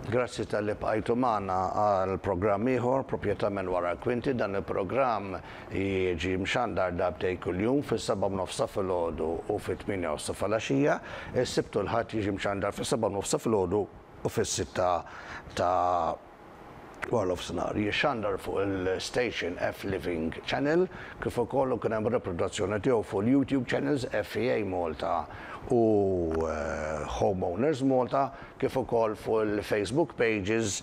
Grazzi talli bqajtu magħna għal programm ieħor, Proprjetà minn wara l-kwinti. Dan il-programm jiġi mxandar darbtejn kuljum, fis-7:30 ta' filgħodu u fit-8:30 ta' filgħaxija. Is-Sibt u l-Ħadd jiġi mxandar fis-7:30 ta' filgħodu u fis-sitta ta' waranofsinhar. Jixxandar fuq il-station F Living Channel kif ukoll ikun hemm riproduzzjoni tiegħu fuq il-YouTube channels FEA Malta u Homeowners Malta kif ukoll fuq il-Facebook pages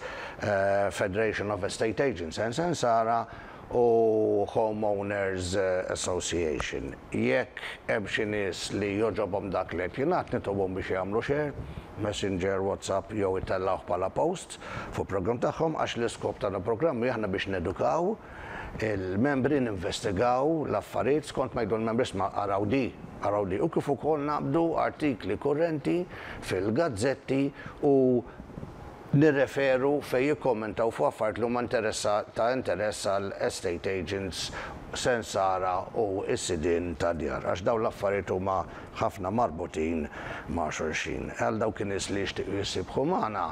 Federation of Estate Agents and Sensara u Homeowners Association. Jekk hemm xi nies li jogħġobhom dak li qed jingħad nitolbhom biex jagħmlu share, Messenger, WhatsApp jew itellgħuh bħala post fuq programm tagħhom għax l-iskop ta' dan il-programm hi aħna biex nedukaw il-membri ninvestigaw l-affarijiet skont ma jgħidu l-membri isma' araw di, araw di u kif ukoll naqbdu artikli kurrenti fil-gazzetti u nirreferu fejn jikkommentaw fuq affarijiet li huma ta' interess għal estate agents, sensara u s-sidien ta' djar għax dawn l-affarijiet huma ħafna marbutin ma' xulxin. Għal dawk in-nies li jixtiequ jissibħu magħna,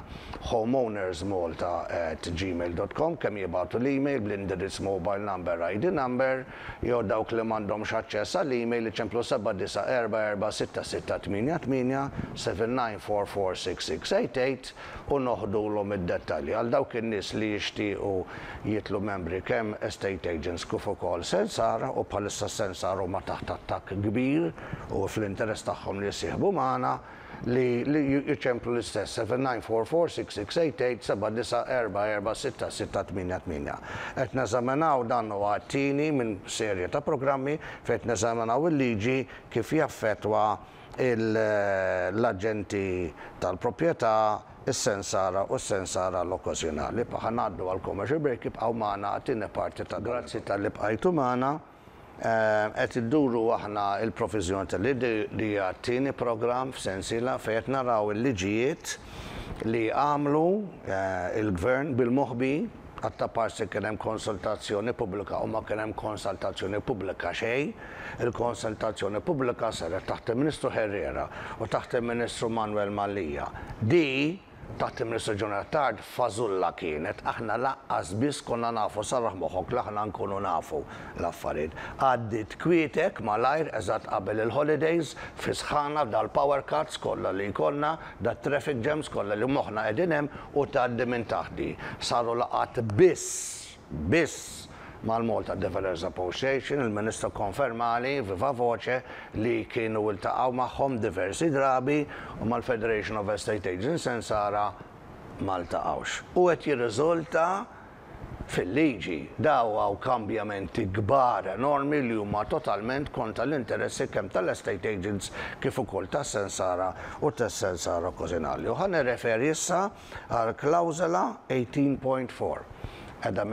homeownersmalta at gmail dot com kemm jibagħtu l-email bl-indirizz mobile number, ID number, jew dawk li m'għandhomx aċċess għall-email iċemplu 79446688, 79446688, u noħdulhom id-dettalji. Għal dawk in-nies li jixtiequ jitlu membri kemm estate agents kif ukoll sensara u bħalissa s-sensara huma taħt attakk kbir u fl-interess tagħhom li jissieħbu magħna li li jċemplu l-istess 79446688 79446688. Qed neżaminaw dan huwa t-tieni minn serje ta' programmi fejn qed neżaminaw il-liġi kif jaffettwa l-aġenti tal-proprjetà, is-sensara u s-sensara l-okkażjonali. Ħa ngħaddu għall-commercial break, ibqgħu magħna għat-tieni parti ta' Grazzi talli bqajtu magħna. Qed idduru aħna l-proviżjoni tal-liġi li hija t-tieni programm f'sensiela fejn qed naraw il-liġijiet li għamlu l-Gvern bil-moħbi. Għat-taparsi kien hemm konsultazzjoni pubblika u ma kien hemm konsultazzjoni pubblika xejn. Il-konsultazzjoni pubblika saret taħt il-Ministru Herrera u taħt il-Ministru Manuel Mallia. Di, taħt il-Ministru John Attard, fażulla kienet. Aħna lanqas biss konna nafu, sarraħ moħħok li aħna nkunu nafu l-affarijiet. Għaddiet kwietek malajr eżatt qabel il-holidays, fi sħana dal-power cuts kollha li jkollna, dat-traffic jams kollha li moħħna qegħdin hemm, u tgħaddi minn taħti. Saru laqgħat biss, biss mal-Malta Developers Association, il-Ministru kkonfermali viva voce li kienu ltaqgħu magħhom diversi drabi u mal-Federation of Estate Agents Sensara ma ltaqgħux. U qed jirriżulta fil-liġi. Daw hawn kambjamenti kbar enormi li huma totalment kontra l-interessi kemm tal-estate agents kif ukoll tas-sensara u tas-sensara okkażjonali. U ħa nirreferi issa għal klawżola 18.4. Qiegħda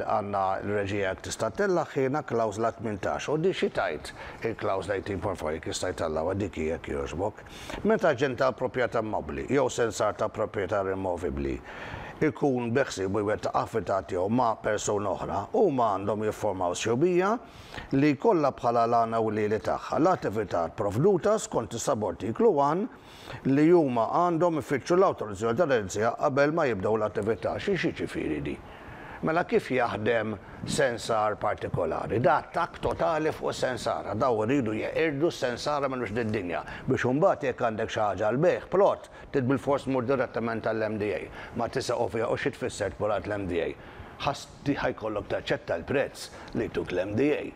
għandna l-reġija jekk tista' ttellagħhielna klawżola 18. U di xi tgħid il-klawżola 18.4 jekk jista' jtellgħuha dik hi jekk jogħġbok. Meta aġent ta' proprjetà immobbli jew sensar ta' proprjetà removibbli jkun beħsiebu jwettaq attività tiegħu ma' persuna oħra, huma għandhom jifformaw sħubija li jkollha bħala l-għan ewlieni tagħha l-attività pprovduta skont is-subartiklu 1 li huma għandhom ifittxu l-awtorizzazzjoni tal-Aġenzija qabel ma jibdew l-attività. Xi x'jiġifieri di? Mela kif jaħdem sensar partikolari? Da attakk totali fuq is-sensara. Dawn iridu jeqirdu s-sensara minn wiċċ d-dinja biex imbagħad jekk għandek xi ħaġa għall-bejgħ, plot, trid bilfors tmur direttament għall-MDA. Ma tisa' u fiha u xi tfisser tmur għand l-MDA? Ħa jkollok taċċetta l-prezz li jtuk l-MDA.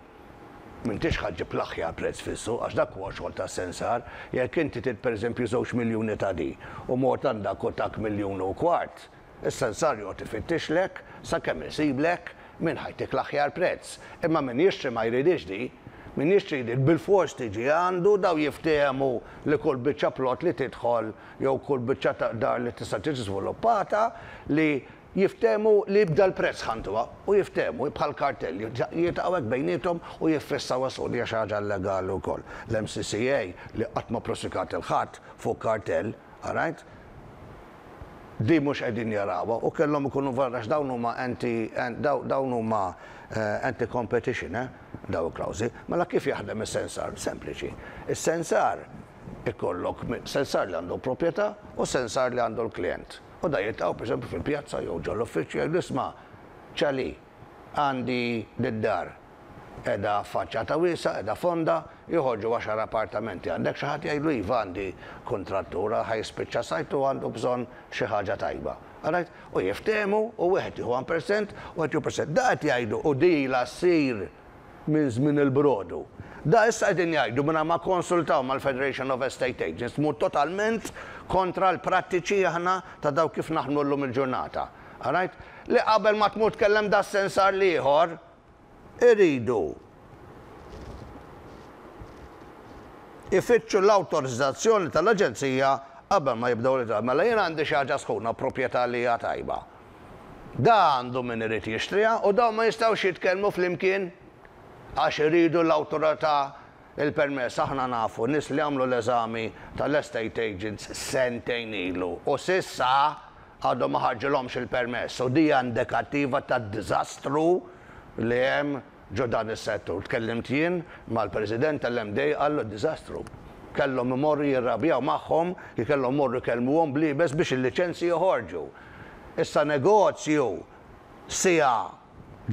M'intix ħa ġġib l-aħjar prezz fis-suq għax dak huwa xogħol tas-sensar. Jekk inti trid pereżempju żewġ miljuni ta' di u mort għand dak u tak miljun u kwart, Is-sensar joqgħod ifittixlek sakemm isiblek min ħa jtik l-aħjar prezz. Imma min jixtri ma jridhiex di. Min jixtri jrid bilfors tiġi għandu, dawn jiftehmu li kull biċċa plot li tidħol jew kull biċċa ta' dar li tista' tiġi żviluppata li jiftehmu li b'dal-prezz ħa ntuha u jiftehmu bħal kartell jiltaqgħu hekk bejniethom u jiffissaw is-suq. Li hija xi ħaġa illegali wkoll. L-MCCA li qatt ma pprosikat 'il ħadd fuq kartell, all right? Di mhux qegħdin jarawha u kellhom ikunu varra għax dawn huma anti dawn huma anti competition eh dawn il-klawżi. Mela kif jaħdem is-sensar? Sempliċi. Is-sensar ikollok sensar li għandu l-proprjetà u sensar li għandu l-klijent. U da jiltaqgħu pereżempju fil-pjazza jew ġol-uffiċċju jgħidu isma' Ċali, għandi did-dar qiegħda f'faċċata wiesgħa, qiegħda fonda, joħorġu għaxar appartamenti. Għandek xi ħadd jgħidlu iva għandi kuntrattur ħa jispiċċa sajt u għandu bżonn xi ħaġa tajba. Alright? U jiftehmu u wieħed jieħu 1% u wieħed jieħu percent. Da qed jgħidu u di ilha ssir minn żmien il-brodu. Da issa qegħdin jgħidu mingħajr ma kkonsultaw mal-Federation of Estate Agents tmur totalment kontra l-prattiċi aħna ta' dawk kif naħdmu llum il-ġurnata. Alright? Li qabel ma tmur tkellem das-sensar l-ieħor iridu ifittxu l-awtorizzazzjoni tal-Aġenzija qabel ma jibdew l Mela jien għandi xi ħaġa sħuna proprjetà li hija tajba. Da għandu min irid jixtriha u dawn ma jistgħux jitkellmu flimkien għax iridu l-awtorità il-permess. Aħna nafu nies li għamlu l-eżami tal-estate agents sentejn ilu u s'issa għadhom ma ħarġilhomx il-permess u di hija indikattiva tad-diżastru li hemm ġo dan is-settur. Tkellimt jien mal-President tal-MDA qallu diżastru. Kellhom imorru jirrabjaw magħhom, kellhom imorru jkellmuhom bl-iebes biex il-liċenzji joħorġu. Issa negozju siegħa,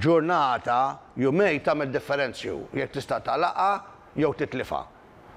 ġurnata, jumejn tagħmel differenzju jekk tista' tagħlaqha jew titlifha.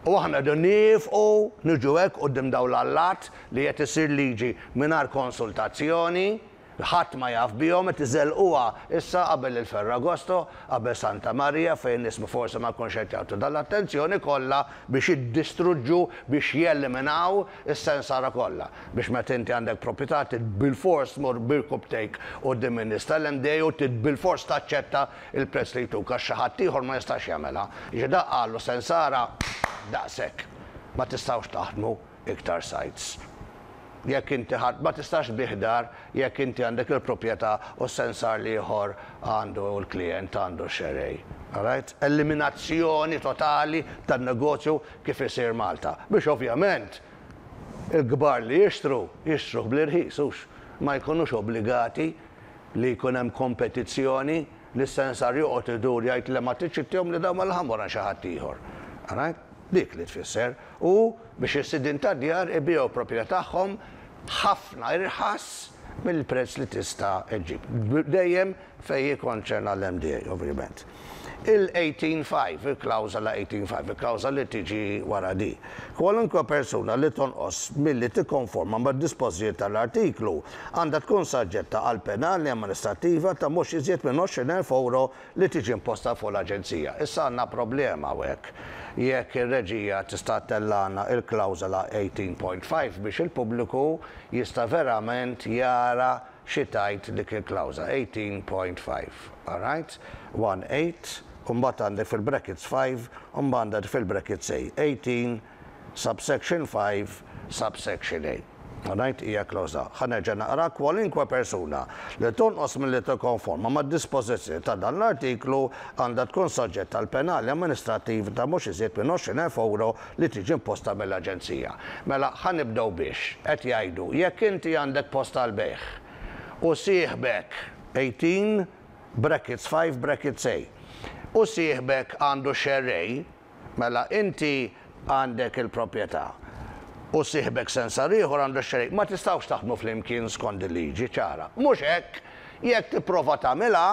U aħna rridu niefqu niġu hekk quddiem dawn l-allat li qed issir liġi mingħajr konsultazzjoni, ħadd ma jaf bihom, qed iżellquha issa qabel il-Ferragosto, qabel Santa Marija fejn nies forsi ma jkunx qed jagħtu dan l-attenzjoni kollha biex jiddistruġġu, biex jeliminaw is-sensara kollha. Biex meta inti għandek proprjetà trid bilfors tmur b'irkubtejk quddiem in-nies tal-MDA u trid bilfors taċċetta il-prezz li jtuk għax xi ħadd ieħor ma jistax jagħmilha. Jiġifieri dak qalu sensara daqshekk. Ma tistgħux taħdmu iktar sites. Jekk inti ħadd ma tistax tbigħ dar jekk inti għandek il-proprjetà u s-sensar l-ieħor għandu l-klijent għandu x-xerrej. Alright? Eliminazzjoni totali tan-negozju kif isir Malta. Biex ovvjament il-kbar li jixtru, jixtruh bl-irħis hux. Ma jkunux obbligati li jkun hemm kompetizzjoni li s-sensar joqgħod idur jgħid le ma tridx ittihom li dawn mela ħa mmur għand xi ħadd ieħor. Alright? Dik li tfisser. U biex is-sidien tad-djar ibigħu proprjetà tagħhom ħafna irħas mill-prezz li tista' ġġib. Dejjem fejn jikkonċerna l-MDA, ovvjament. Il-18.5, il-klawżola 18.5, il-klawżola li tiġi wara di. Kwalunkwe persuna li tonqos milli tikkonforma mad-dispożijiet tal-artiklu għandha tkun saġġetta għal penali amministrattiva ta' mhux iżjed minn 20,000 euro li tiġi imposta fuq l-Aġenzija. Issa għandna problema hawnhekk. Jekk ir-reġija tista' ttellagħna il-klawżola 18.5 biex il-pubbliku jista' verament jara xi tgħid dik il-klawżola 18.5. All right? 1 8, u mbagħad għandek fil-brackets 5, u mbagħad għandek fil-brackets A. 18 subsection 5 subsection A. Alright, hija klawżola. Ħa nerġa' naqra kwalunkwe persuna li tonqos milli tikkonforma mad-dispożizzjoni ta' dan l-artiklu għandha tkun soġġetta għal penali amministrattiv ta' mhux iżjed minn 20,000 euro li tiġi imposta mill-Aġenzija. Mela ħa nibdew biex qed jgħidu jekk inti għandek post għall-bejgħ u sieħbek 18 brackets 5 brackets A u sieħbek għandu xerrej, Mela inti għandek il-proprjetà u sieħbek sensar ieħor għandu x-xerrej. Ma tistgħux taħdmu flimkien skond il-liġi, ċara. Mhux hekk, jekk tipprova tagħmilha,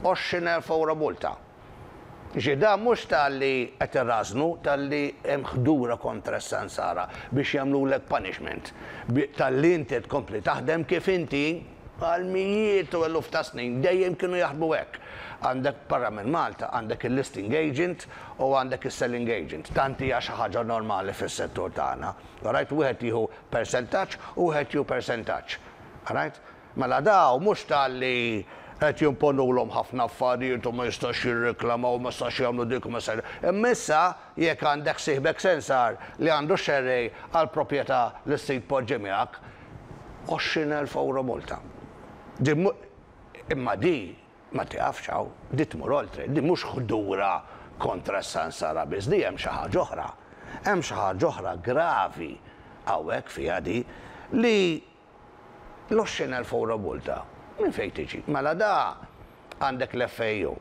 20,000 ewro multa. Jiġifieri dan mhux talli qed irrażżnu, talli hemm ħdura kontra s-sensara biex jagħmlulek punishment. Talli inti tkompli taħdem kif inti Għal mijiet u eluf ta' snin dejjem kienu jaħdmu hekk. Għandek barra minn Malta għandek il-listing agent u għandek is-selling agent. Tant hija xi ħaġa normali fis-settur tagħna. Alright, wieħed jieħu persentaġġ u wieħed jieħu persentaġġ. Alright? Mela dawn mhux talli qed jimponulhom ħafna affarijiet u ma jistax jirriklamaw u ma jistax jagħmlu dik u ma jistax. Imma issa jekk għandek sieħbek sensar li għandu xerrej għal proprjetà li ssib poġġi miegħek, 20,000 ewro multa. Din imma di ma tiqafx hawn, di tmur oltre, di mhux ħdura kontra s-sansara biss, di hemm xi ħaġa oħra. Hemm xi ħaġa oħra gravi hawnhekk fiha di li l-20,000 ewro multa minn fejn tiġi? Mela da għandek l-FAO.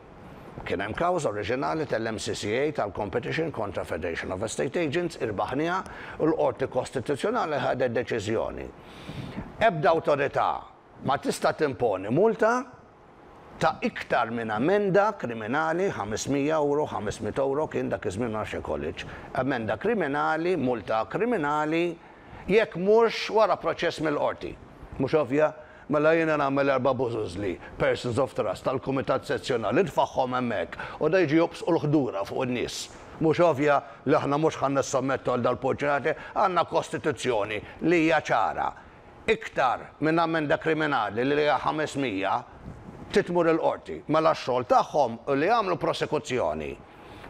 Kien hemm kawża oriġinali tal-MCCA tal-Competition kontra Federation of Estate Agents, irbaħniha u l-Qorti Kostituzzjonali ħadet deċiżjoni. Ebda awtorità ma tista' timponi multa ta' iktar minn amenda kriminali, 500 ewro, 500 ewro kien dak iż-żmien ma nafx jekk għolitx, amenda kriminali, multa kriminali, jekk mhux wara proċess mill-qorti. Mhux ovvja? Mela jiena nagħmel erba' bużużli, persons of trust, tal-kumitat sezzjonali, nitfagħhom hemmhekk u da jiġu jobsqu l-ħdura fuq in-nies. Mhux ovvja li aħna mhux ħa nissommettu għal dal-purċinati? Għandna kostituzzjoni li hija ċara. Iktar minn amenda kriminali li hija 500 trid tmur il-qorti. Mela x-xogħol tagħhom hu li jagħmlu prosekuzzjoni.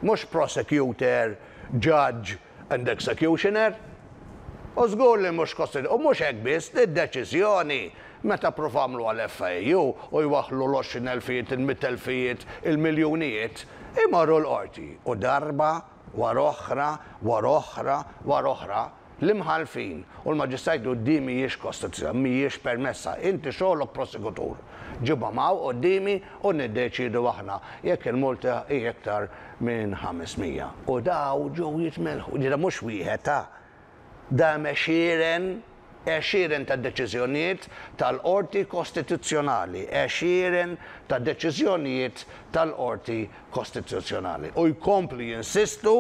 Mhux prosecutor, judge, and executioner? U żgur li mhux kosti u mhux hekk biss, id-deċiżjoni meta ppruvaw għamluha l-FIAU u jwaħħlu l-għoxrin elfijiet, il-mitt elfijiet, il-miljunijiet, imorru l-qorti u darba wara oħra, wara oħra, wara oħra, L-imħallfin u l-maġistrat jgħidu di mhijiex kostituzzjonali, mhijiex permessa. Inti xogħlok prosekutur. Ġibhom hawn quddiemi u niddeċiedu aħna jekk il-multa hi iktar minn 500. U daw ġew jitmelħu. Ġifieri mhux wieħed ta'. Da hemm għexieren, għexieren ta' deċiżjonijiet tal-Qorti Kostituzzjonali, għexieren ta' deċiżjonijiet tal-Qorti Kostituzzjonali. U jkomplu jinsistu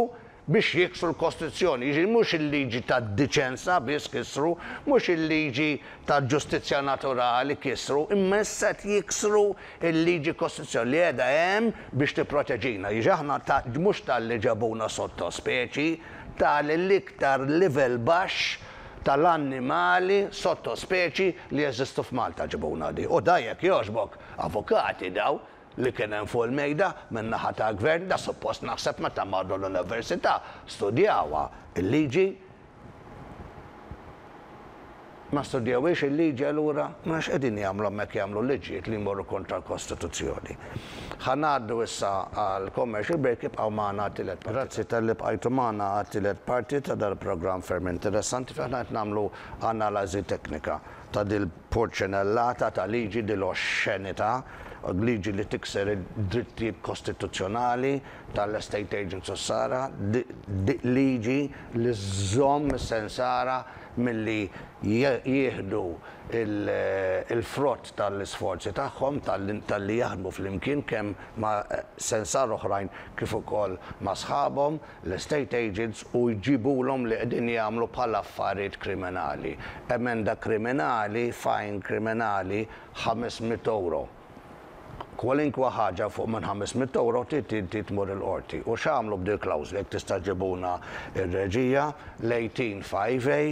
biex jiksru l-Kostituzzjoni, jiġifieri mhux il-liġi tad-diċenza biss kisru, mhux il-liġi tal-ġustizzja naturali kisru, imma issa qed jiksru l-liġi Kostituzzjonali li qiegħda hemm biex tipproteġina. Jiġifieri aħna ta' mhux talli ġabuna sottospeċi, ta' l-iktar livell baxx tal-annimali sottospeċi li jeżistu f'Malta ġibuna di. U da jekk jogħġbok, avukati daw, li kien hemm fuq il-mejda min-naħa tal-Gvern, da suppost naħseb meta marru l-Università studjawha l-liġi. Ma studjawhiex il-liġi allura? Mela x'qegħdin jagħmlu hemmhekk jagħmlu liġijiet li jmorru kontra l-Kostituzzjoni. Ħa ngħaddu issa għall-commercial break ibqgħu magħna għat-tielet parti. Grazzi talli bqajtu magħna għat-tielet parti ta' dal-programm ferm interessanti fejn aħna qed nagħmlu analażi teknika ta' dil-purċinellata ta' liġi, dil-oxxenità, liġi li tikser id-drittijiet kostituzzjonali tal-estate agents u s-sara, liġi li żżomm is-sensara milli jieħdu l-frott tal-isforzi tagħhom talli jaħdmu flimkien kemm ma' sensara oħrajn kif ukoll ma' sħabhom. l-estate agents u jġibulhom li qegħdin jagħmlu bħala affarijiet kriminali. Emenda kriminali, fine kriminali, 500 ewro. Kwalinkwa ħaġa fuq minn 500 ewro trid inti tmur il-qorti. U x'għamlu b'dil-klawżla, jekk tista' ġġibuna r-reġija, l-18 5 A,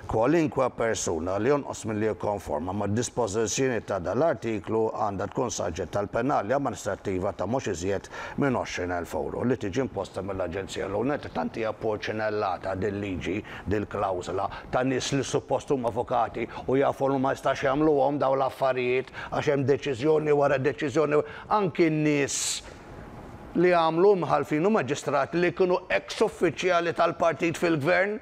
Kwalinkwa persuna li jonqos milli jikkonforma mad-dispożizzjonijiet ta' dan l-artiklu għandha tkun saġġetta għal penali amministrattiva ta' mhux iżjed minn 20,000 ewro li tiġi imposta mill-Aġenzija L-ewwel tant hija pporċinellata dil-liġi, dil-klawżola, ta' nies li suppost huma avukati u jafu li ma jistax jagħmluhom dawn l-affarijiet għax hemm deċiżjoni wara deċiżjoni anki n-nies li għamlu imħallfin u maġistrati li kienu eks uffiċjali tal-partit fil-gvern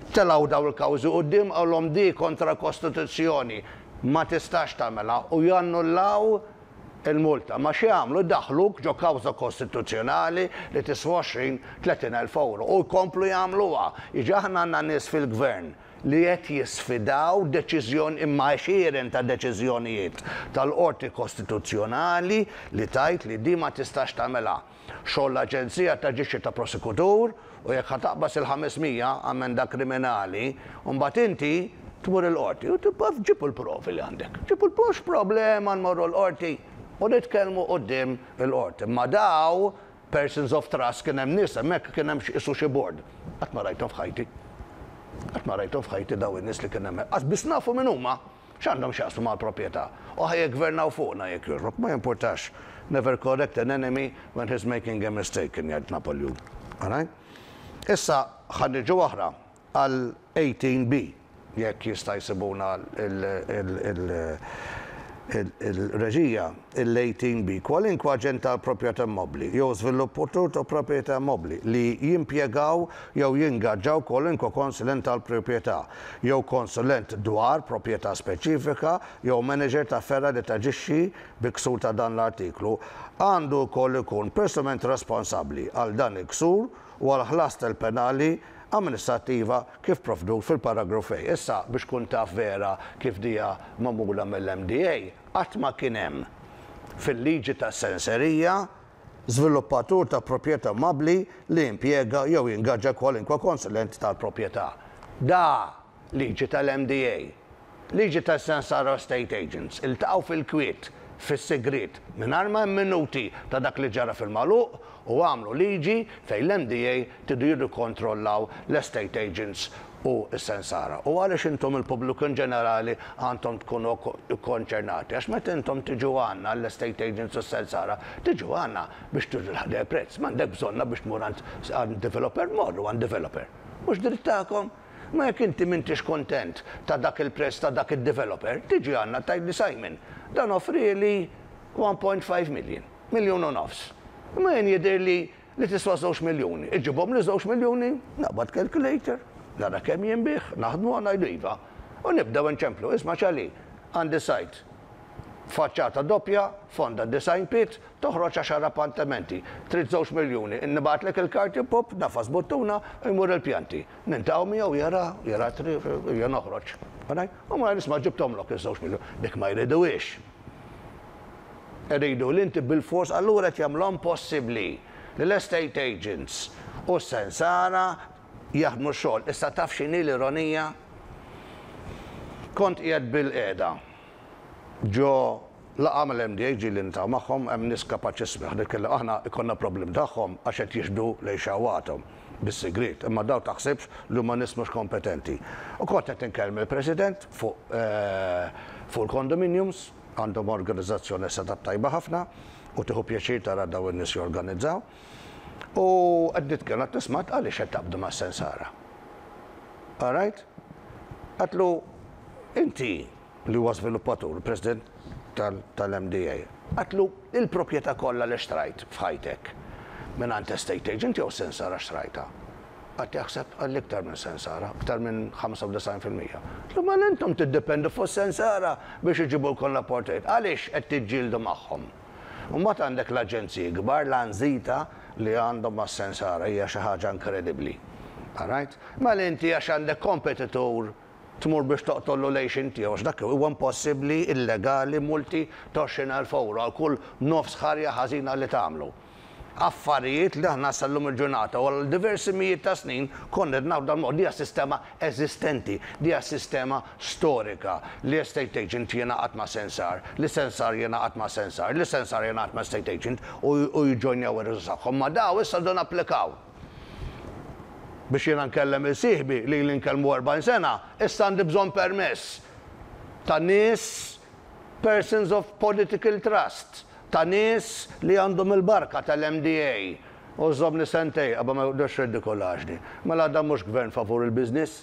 Telgħu dawn il-kawżi quddiem qalhom di kontra l-Kostituzzjoni, ma tistax tagħmilha u jannullaw il-multa. Ma x'jagħmlu jdaħħluk ġo kawża kostituzzjonali li tiswa 20, 30 elf ewro u jkomplu jagħmluha. Jiġi aħna għandna nies fil-Gvern li qed jisfidaw deċiżjoni imma għexieren ta' deċiżjonijiet tal-Qorti Kostituzzjonali li tgħid li di ma tistax tagħmilha. Xogħol l-Aġenzija taġixxi ta' prosekutur u jekk ħa taqbeż il-500 ammenda kriminali, mbagħad inti tmur il-qorti u tibqa' ġib il-provi li għandek. Ġib il mhux problema nmorru l-qorti u nitkellmu quddiem il-qorti. Imma daw persons of trust kien hemm nies hemmhekk kien hemm qisu xi board. Qatt ma rajthom f'ħajti. Qatt ma rajthom f'ħajti daw in-nies li kien hemmhekk. Qas biss nafu min huma. X'għandhom x'jaqsmu mal-proprjetà? U ħa jiggvernaw fuqna jekk jogħġbok, ma jimpurtax. Never correct an enemy when he's making a mistake, kien jgħid Napoleon. Alright? Issa ħa niġu oħra għal 18B, jekk jista' jsibuna Il-reġija, il-18B, Kwalinkwe aġent tal-proprjetà immobbli jew żviluppatur ta' proprjetà immobbli li jimpjegaw jew jingaġġaw kwalinkwe konsulent tal-proprjetà jew konsulent dwar proprjetà speċifika jew maniġer ta' fergħa li taġixxi bi ksur ta' dan l-artiklu għandu wkoll ikun personalment responsabbli għal dan il-ksur u għall-ħlas tal-penali amministrattiva kif provdut fil-paragrafu A. Issa, biex tkun taf vera kif dija magħmula mill-MDA, qatt ma kien hemm fil-liġi tas-senserija żviluppatur ta' proprjetà immobbli li jimpjega jew jingaġġa kwalinkwe konsulent tal-proprjetà. Da liġi tal-MDA. Liġi tas-Sensara Estate Agents. Iltaqgħu fil-kwiet, fis-sigriet, mingħajr ma hemm minuti ta' dak li ġara fil-magħluq u għamlu liġi fejn l-MDA tridu jirrikontrollaw l-estate agents u s-sensara. U għaliex intom il-pubbliku in ġenerali għandhom tkunu kkonċernati? Għax meta intom tiġu għandna l-estate agents u s-sensara, tiġu għandna biex turu l-ħdejja prezz. M'għandek bżonna biex tmur għand developer, morru għand developer. Mhux dritt tagħkom? Ma jekk inti m'intix kuntent ta' dak il-prezz ta' dak id-developer, tiġi għandna tgħidli Simon, dan offrieli 1.5 million. Miljun u nofs. Imma jien jidhirli li tiswa żewġ miljuni. Iġibhomli żewġ miljuni, naqbad calculator, nara kemm jinbiegħ, naħdmu ngħidu iva. U nibdew inċemplu, isma' Charlie, għandi sajt. Faċċata doppja, fonda design pit, toħroġ għaxar appartamenti. Trid żewġ miljuni, nibgħatlek il-karti, pup, nagħfas buttuna, jmur il-pjanti. Niltaqgħu miegħu jara, jara t-triq, jien noħroġ. U ma isma' ġibthomlok iż-żewġ miljun. Dik ma jriduhiex. Iridu li inti bilfors allura qed jagħmluha impossibbli li l-estate agents u s-sensara jaħdmu x-xogħol. Issa taf x'inhi l-ironija? Kont qiegħed bilqiegħda ġo laqgħa mal-MDA ġieli niltaqgħu magħhom, hemm nies kapaċissimi, aħna nitkellem aħna jkollna problemi tagħhom għax qed jixhdu lejn xahwathom bis-sigriet, imma dawn taħsibx li huma nies mhux kompetenti. U kont qed inkellem il-President fuq fuq il-condominiums, Għandhom organizzazzjoni set-up tajba ħafna u tieħu pjaċir tara dawn in-nies jorganizzaw. U qed nitkellem għad nisma' għaliex qed taqbdu mas-sensara. All right? Għadtlu inti li huwa żviluppatur, il-President tal-MDA, għadtlu il-proprjetà kollha li xtrajt f'ħajtek mingħand estate agent jew sensara xtrajtha? Qagħad jaħseb, qalli iktar minn sensara, iktar minn 95%. Għedtlu mela intom tiddependu fuq sensara biex iġibulkom l-apportajiet. Għaliex qed tiġġieldu magħhom? U mbagħad għandek l-aġenziji kbar, l-anżita li għandhom mas-sensara hija xi ħaġa inkredibbli. All right? Mela inti għax għandek kompetitur tmur biex toqtollu l-għixien tiegħu għax dak huwa impossibbli, illegali, multi ta' 20,000 ewro għal kull nofs ħarja ħażina li tagħmlu. Affarijiet li aħna sal-lum il-ġurnata u għal diversi mijiet ta' snin konna qed naħdmu dan mod. Dija sistema eżistenti, dija sistema storika li estate agent jingħaqad ma' sensar, li sensar jingħaqad ma' sensar, li sensar jingħaqad ma' estate agent u jiġġojnjaw ir-riżorsi tagħhom. Ma daw issa rridu napplikaw. Biex jiena nkellem il sieħbi li ili nkellmu 40 sena, issa għandi bżonn permess ta' nies persons of political trust. Ta' nies li għandhom il-barka tal-MDA u żżommni sentej qabel ma joqgħodux riddikolaġni. Mela dan mhux gvern favur il-business?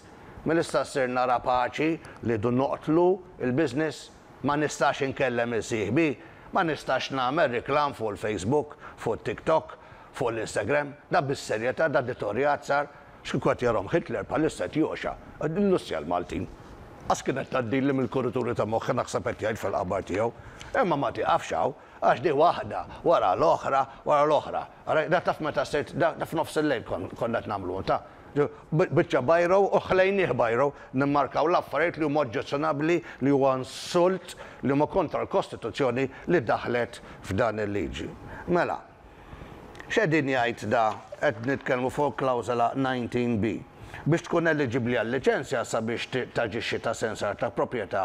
Mela issa sirna rapaċi li rridu noqtlu l-business? Ma nistax inkellem 'il sieħbi? Ma nistax nagħmel reklam fuq il-Facebook, fuq it-TikTok, fuq l-Instagram? Da bis-serjetà, da ditorjat sar? X'kieku qed jarahom Hitler bħalissa qed jogħxa. Illussja l-Maltin. Qas kienet tgħaddili mill-kurituri ta' moħħi naħseb qed jgħid fil-qabar tiegħu. Imma ma tieqafx hawn, għax di waħda wara l-oħra wara l-oħra. Ara, da taf meta sirt, da f'nofs il-lejl konna qed nagħmluhom, ta. Biċċa bajro u ħlejnieh bajro, nimmarkaw l-affarijiet li huma oġġezzjonabbli, li huwa insult, li huma kontra l-Kostituzzjoni li daħlet f'dan il-liġi. Mela. X'qegħdin jgħid da qed nitkellmu fuq il-klawżola 19B. Biex tkun eliġibbli għal liċenzja sabiex taġixxi ta' sensar ta' proprjetà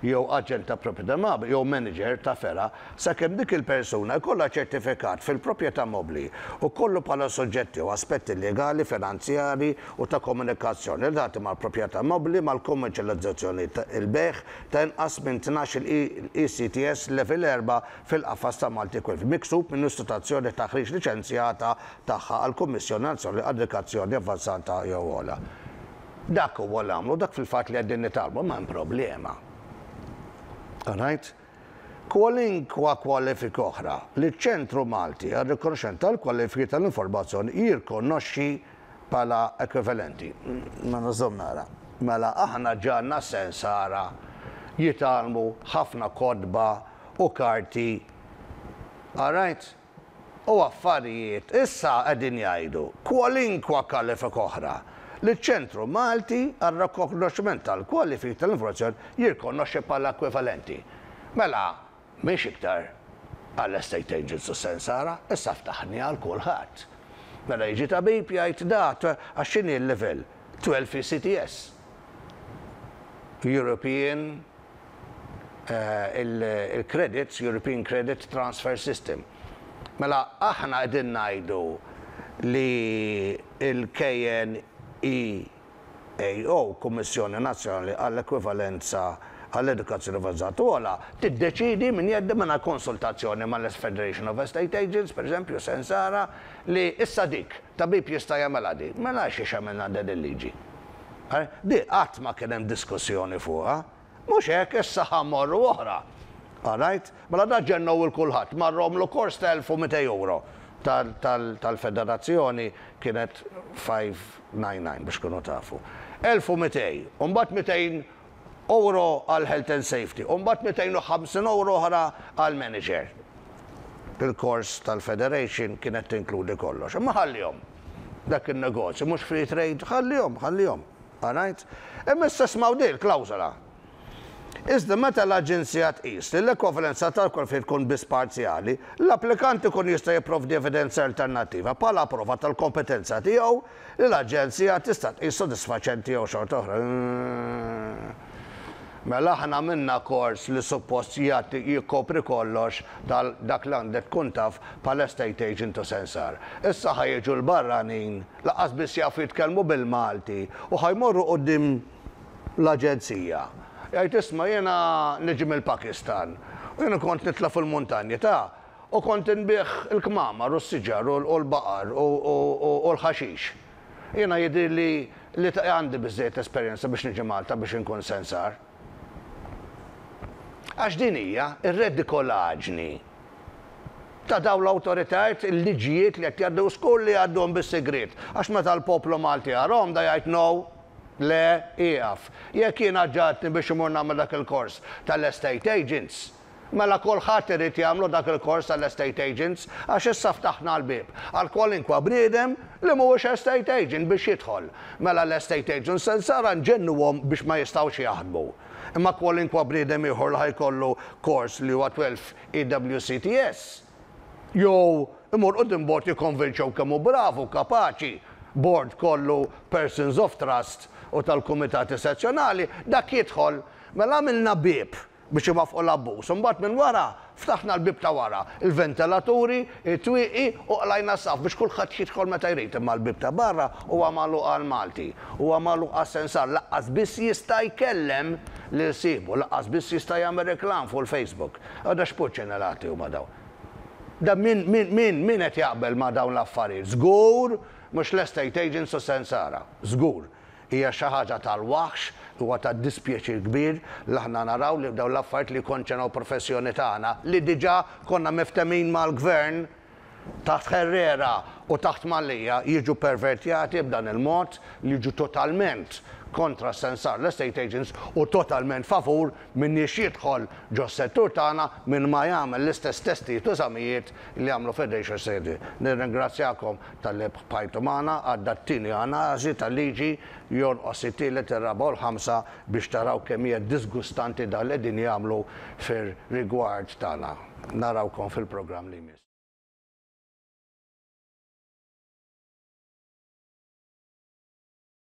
jew aġent ta' proprjetà mobbli jew maniġer ta' fergħa sakemm dik il-persuna jkollha ċertifikat fil-proprjetà mobbli u kollu bħala suġġetti u aspetti legali, finanzjarji u ta' komunikazzjoni relatati mal-proprjetà mobbli mal-kummerċjalizzazzjoni il-bejgħ ta' inqas minn 12-il ECTS Level 4 fil-qafas ta' Malti Qualif, miksub minn istituzzjoni ta' taħriġ liċenzjata tagħha għall-Kummissjoni Nazzjonali għall-Edukazzjoni Avvanzata jew Ogħla. Dak huwa l-għamlu, dak fil-fatt li qegħdin nitgħallmu, imma hemm problema. All right? Kwalinkwa kwalifika oħra li ċ-Ċentru Malti għar-Rikonoxximent tal-Kwalifiki tal-Informazzjoni jirkonoxxi bħala ekwivalenti. Mela żomm nara. Mela aħna ġa għandna sensara jitgħallmu ħafna kotba u karti. All right? U affarijiet issa qegħdin jgħidu kwalinkwa kwalifika oħra li ċ-Ċentru Malti għar-Rikonoxximent tal-Kwalifiki tal-Informazzjoni jirkonoxxi bħala ekwivalenti. Mela mhix iktar għall-estate agents u sensara, issa ftaħni għal kulħadd. Mela jiġi tabib jgħid da għax x'inhi l-level? 12 ECTS. European il-credits, European Credit Transfer System. Mela aħna qegħdin ngħidu li l-KNEAO, Kummissjoni Nazzjonali għall-Ekwivalenza għall-Edukazzjoni Avvanzata u Ogħla, tiddeċiedi minn jeddi mingħajr konsultazzjoni mal-Federation of Estate Agents, pereżempju, Sensara, li issa dik, tabib jista' jagħmilha di. Mela għalxiex għamilna din il-liġi? Di qatt ma kien hemm diskussjoni fuqha. Mhux hekk, issa ħa mmorru oħra. All right? Mela da ġennew 'il kulħadd, marru għamlu kors ta' 1200 euro tal-federazzjoni kienet 599 biex tkunu tafu. 1200, u mbagħad 200 euro għal health and safety, u mbagħad 250 euro oħra għal manager. Il-kors tal-federation kienet tinkludi kollox. Imma ħallihom. Dak in-negozju mhux free trade, ħallihom, ħallihom. All right? Imma issa smgħu din il-klawżola. Iżda meta l-Aġenzija tqis li l-ekwivalenza tal-kwalifiki tkun biss parzjali, l-applikant ikun jista' jipprovdi evidenza alternattiva bħala prova tal-kompetenza tiegħu li l-Aġenzija tista' tqis sodisfaċenti jew xorta oħra. Mela aħna għamilna kors li suppost jagħti jikkopri kollox tal dak li għandek tkun taf bħala estate agent u sensar. Issa ħa jiġu l-barranin lanqas biss jafu jitkellmu bil-Malti u ħa jmorru quddiem l-aġenzija. Jgħid isma' jiena niġi mill-Pakistan u jiena kont nitla' fil-muntanji ta' u kont inbigħ il-kmamar u s-siġar u l-baqar u l-ħaxix. Jiena jidhirli li għandi biżżejjed esperjenza biex niġi Malta biex inkun sensar. Għax din hija r-redikolaġni ta' dawn l-awtoritajiet, il-liġijiet li qed jgħaddu żgur li jgħadduhom bis-sigriet. Għax meta l-poplu Malti jarahom da jgħid no, le, ieqaf. Jekk jiena ġagħaltni biex imur nagħmel dak il-kors tal-estate agents, mela kulħadd irid jagħmlu dak il-kors tal-estate agents għax issa ftaħna l-bieb għal kwalinkwa bniedem li mhuwiex estate agent biex jidħol. Mela l-estate agents sensara nġennuhom biex ma jistgħux jaħdmu. Imma kwalinkwa bniedem ieħor li ħa jkollu kors li huwa 12 EWCTS, jew imur quddiem bord jikkonvinċew kemm hu bravu, kapaċi, bord kollu persons of trust u tal-kumitati sezzjonali, dak jidħol. Mela għamilna bieb biex iwaffqu l-abbuż. Imbagħad minn wara ftaħna l-bieb ta' wara, il-ventilaturi, it-twieqi u qlajna s-saqaf biex kulħadd jidħol meta jrid. Imma l-bieb ta' barra huwa magħluq għall-Malti, huwa magħluq għas-sensar, lanqas biss jista' jkellem lil sieħbu, lanqas biss jista' jagħmel reklam fuq il-Facebook. Għada x'purċinelati huma dawn? Da min, min, min, min qed jaqbel ma' dawn l-affarijiet? Żgur mhux l-estate agents u s-sensara. Żgur. Hija xi ħaġa tal-waħx, huwa ta' dispjaċir kbir li aħna naraw li dawn l-affarijiet li jikkonċernaw professjoni tagħna, li diġà konna miftemin mal-Gvern taħt Herrera u taħt Mallia, jiġu pervertjati b'dan il-mod li jiġu totalment kontra s-sensar l-estate agents u totalment favur min jiex jidħol ġos-settur tagħna minn ma jagħmel l-istess testijiet u eżamijiet li għamlu Federation Sedi. Nirringrazzjakom talli bqajtu magħna għadda t-tieni analiżi tal-liġi, jonqos it-tielet, ir-raba' u l-ħamsa biex taraw kemm hija disgustanti dan li qegħdin jagħmlu fir-rigward tagħna. Narawkom fil-programm li jmiss.